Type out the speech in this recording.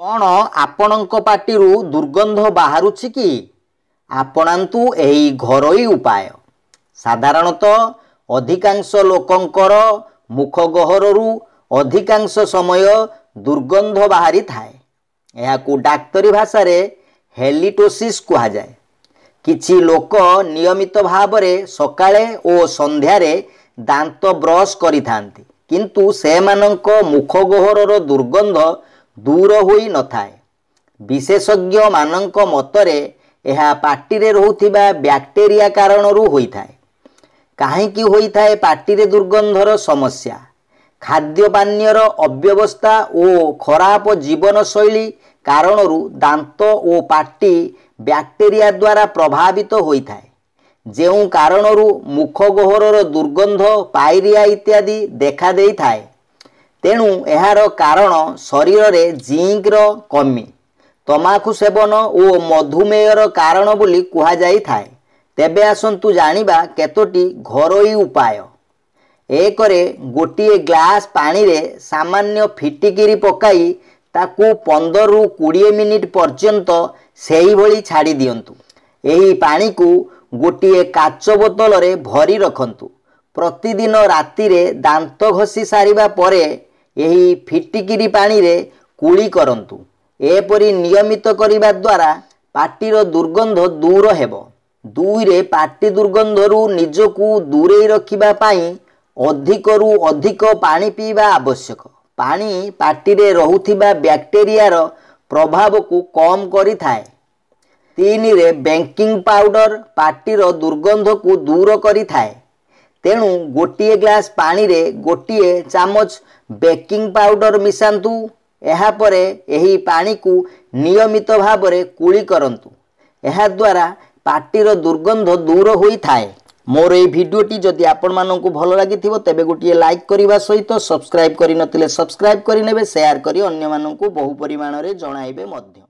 କ'ଣ ଆପଣଙ୍କ ପାଟିରୁ ଦୁର୍ଗନ୍ଧ ବାହାରୁଛି କି? ଆପଣାନ୍ତୁ ଏହି ଘରୋଇ ଉପାୟ। ସାଧାରଣତଃ ଅଧିକାଂଶ ଲୋକଙ୍କର ମୁଖ ଗହ୍ୱରରୁ ଅଧିକାଂଶ ସମୟ ଦୁର୍ଗନ୍ଧ ବାହାରିଥାଏ। ଏହାକୁ ଡାକ୍ତରୀ ଭାଷାରେ ହେଲିଟୋସିସ୍ କୁହାଯାଏ। କିଛି ଲୋକ ନିୟମିତ ଭାବରେ ସକାଳେ ଓ ସନ୍ଧ୍ୟାରେ ଦାନ୍ତ ବ୍ରଶ କରିଥାନ୍ତି, କିନ୍ତୁ ସେମାନଙ୍କ ମୁଖ ଗହ୍ୱରର ଦୁର୍ଗନ୍ଧ ଦୂର ହୋଇ ନଥାଏ। ବିଶେଷଜ୍ଞମାନଙ୍କ ମତରେ ଏହା ପାଟିରେ ରହୁଥିବା ବ୍ୟାକ୍ଟେରିଆ କାରଣରୁ ହୋଇଥାଏ। କାହିଁକି ହୋଇଥାଏ ପାଟିରେ ଦୁର୍ଗନ୍ଧର ସମସ୍ୟା? ଖାଦ୍ୟ ପାନୀୟର ଅବ୍ୟବସ୍ଥା ଓ ଖରାପ ଜୀବନଶୈଳୀ କାରଣରୁ ଦାନ୍ତ ଓ ପାଟି ବ୍ୟାକ୍ଟେରିଆ ଦ୍ୱାରା ପ୍ରଭାବିତ ହୋଇଥାଏ, ଯେଉଁ କାରଣରୁ ମୁଖ ଗହ୍ୱରର ଦୁର୍ଗନ୍ଧ, ପାଇରିଆ ଇତ୍ୟାଦି ଦେଖାଦେଇଥାଏ। ତେଣୁ ଏହାର କାରଣ ଶରୀରରେ ଜିଙ୍କର କମି, ତମାଖୁ ସେବନ ଓ ମଧୁମେହର କାରଣ ବୋଲି କୁହାଯାଇଥାଏ। ତେବେ ଆସନ୍ତୁ ଜାଣିବା କେତୋଟି ଘରୋଇ ଉପାୟ। ଏକରେ ଗୋଟିଏ ଗ୍ଲାସ୍ ପାଣିରେ ସାମାନ୍ୟ ଫିଟିକିରି ପକାଇ ତାକୁ 15ରୁ 20 ମିନିଟ୍ ପର୍ଯ୍ୟନ୍ତ ସେହିଭଳି ଛାଡ଼ି ଦିଅନ୍ତୁ। ଏହି ପାଣିକୁ ଗୋଟିଏ କାଚ ବୋତଲରେ ଭରି ରଖନ୍ତୁ। ପ୍ରତିଦିନ ରାତିରେ ଦାନ୍ତ ଘଷି ସାରିବା ପରେ ଏହି ଫିଟିକିରି ପାଣିରେ କୁଳି କରନ୍ତୁ। ଏପରି ନିୟମିତ କରିବା ଦ୍ୱାରା ପାଟିର ଦୁର୍ଗନ୍ଧ ଦୂର ହେବ। ଦୁଇରେ ପାଟି ଦୁର୍ଗନ୍ଧରୁ ନିଜକୁ ଦୂରେଇ ରଖିବା ପାଇଁ ଅଧିକରୁ ଅଧିକ ପାଣି ପିଇବା ଆବଶ୍ୟକ। ପାଣି ପାଟିରେ ରହୁଥିବା ବ୍ୟାକ୍ଟେରିଆର ପ୍ରଭାବକୁ କମ୍ କରିଥାଏ। ତିନିରେ ବେକିଂ ପାଉଡର ପାଟିର ଦୁର୍ଗନ୍ଧକୁ ଦୂର କରିଥାଏ। ତେଣୁ ଗୋଟିଏ ଗ୍ଲାସ୍ ପାଣିରେ ଗୋଟିଏ ଚାମଚ ବେକିଂ ପାଉଡର ମିଶାନ୍ତୁ। ଏହାପରେ ଏହି ପାଣିକୁ ନିୟମିତ ଭାବରେ କୁଳି କରନ୍ତୁ। ଏହାଦ୍ୱାରା ପାଟିର ଦୁର୍ଗନ୍ଧ ଦୂର ହୋଇଥାଏ। ମୋର ଏହି ଭିଡ଼ିଓଟି ଯଦି ଆପଣମାନଙ୍କୁ ଭଲ ଲାଗିଥିବ, ତେବେ ଗୋଟିଏ ଲାଇକ୍ କରିବା ସହିତ ସବସ୍କ୍ରାଇବ୍ କରିନଥିଲେ ସବସ୍କ୍ରାଇବ୍ କରିନେବେ, ସେୟାର କରି ଅନ୍ୟମାନଙ୍କୁ ବହୁ ପରିମାଣରେ ଜଣାଇବେ ମଧ୍ୟ।